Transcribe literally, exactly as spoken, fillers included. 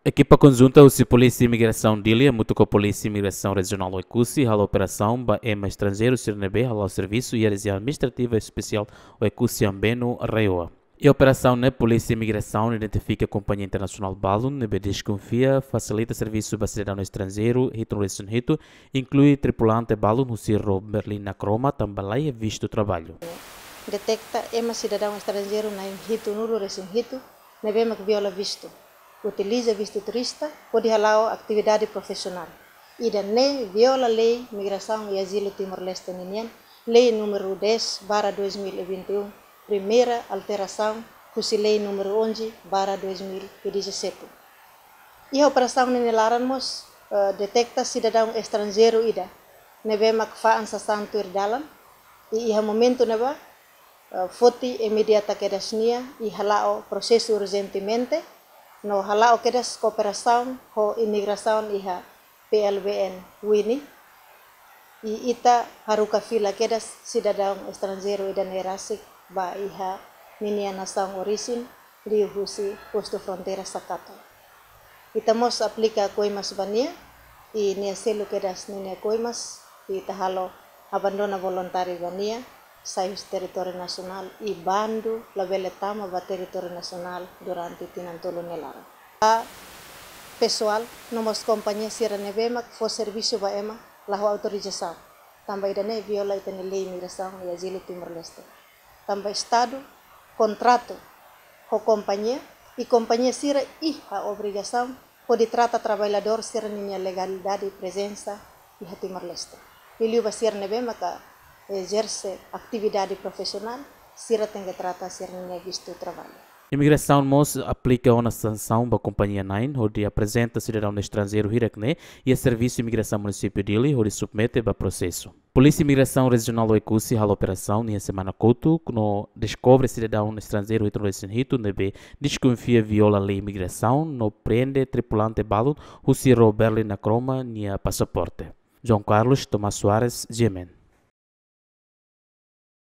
Ekipa konjunta husi Polísia Imigrasaun Dili hamutuk ho Polísia Imigrasaun Rejionál Oekusi halo operasaun ba ema estranjeiru sira ne'ebé hala'o servisu iha Rejiaun Administrativa Espesiál Oekusi Ambenu, RAEOA. Iha operasaun ne'e Polísia Imigrasaun identifika kompañia internasionál balun ne'ebé deskonfia fasilita servisu ba sidadaun estranjeiru hitunulu-resin-hitu, inklui tripulante balun husi ró Berlin Nakroma tanba laiha vistu traballu. Detekta ema sidadaun estranjeiru na'in hitunulu-resin-hitu ne'ebé mak viola vistu, utiliza vistu turista hodi hala'o atividade profisionál. Ida-ne'e viola lei migrasaun i azilu Timor-Leste ninian, lei númeru dez barra dois mil e vinte e um, primeira alterasaun husi lei númeru onze barra dois mil e dezassete. Iha operasaun ne'e nia laran mós, eh, detekta sidadaun estranjeiru ida ne'ebé mak fa'an sasán tuir dalan, i iha momentu ne'ebá, eh, foti imediata kedas nia i hala'o prosesu urjentemente, no hala'o kedas kooperasaun ho imigrasaun iha P L B N Wini, i ita haruka fila kedas sidadaun estranjeiru ida-ne'e rasik ba iha ninia nasaun orijin, liuhusi postu fronteira Sakato. Ita mós aplika koimas ba nia, i nia selu kedas ninia koimas, i ita halo abandona voluntáriu ba nia, sai husi territóriu nasionál, i bandu labele tama ba territóriu nasionál durante tinan tolu nia laran. Ba pesoál no mós kompañia sira ne'ebé mak fó servisu ba ema la ho autorizasaun, tanba ida-ne'e viola ita-nia lei imigrasaun i azilu Timor-Leste. Tanba Estadu kontratu ho kompañia, i kompañia sira iha obrigasaun hodi trata traballadór sira ninia legalidade prezensa iha Timor-Leste. Liuliu ba sira ne'ebé maka ezerse atividade profisionál, sira tenke trata sira ninia vistu traballu. Imigrasaun mós aplika ona sansaun ba kompañia na'in hodi aprezenta sidadaun estranjeiru hirak-ne'e iha Servisu Imigrasaun Munisípiu Dili hodi submete ba prosesu. Polísia Imigrasaun Rejionál Oekusi halo operasaun iha semana kotuk no deskobre sidadaun estranjeiru hitunulu-resin-hitu ne'ebé deskonfia viola lei imigrasaun no prende tripulante balun husi ró Berlin Nakroma nia pasaporte. João Carlos Tomás Soares, G M N.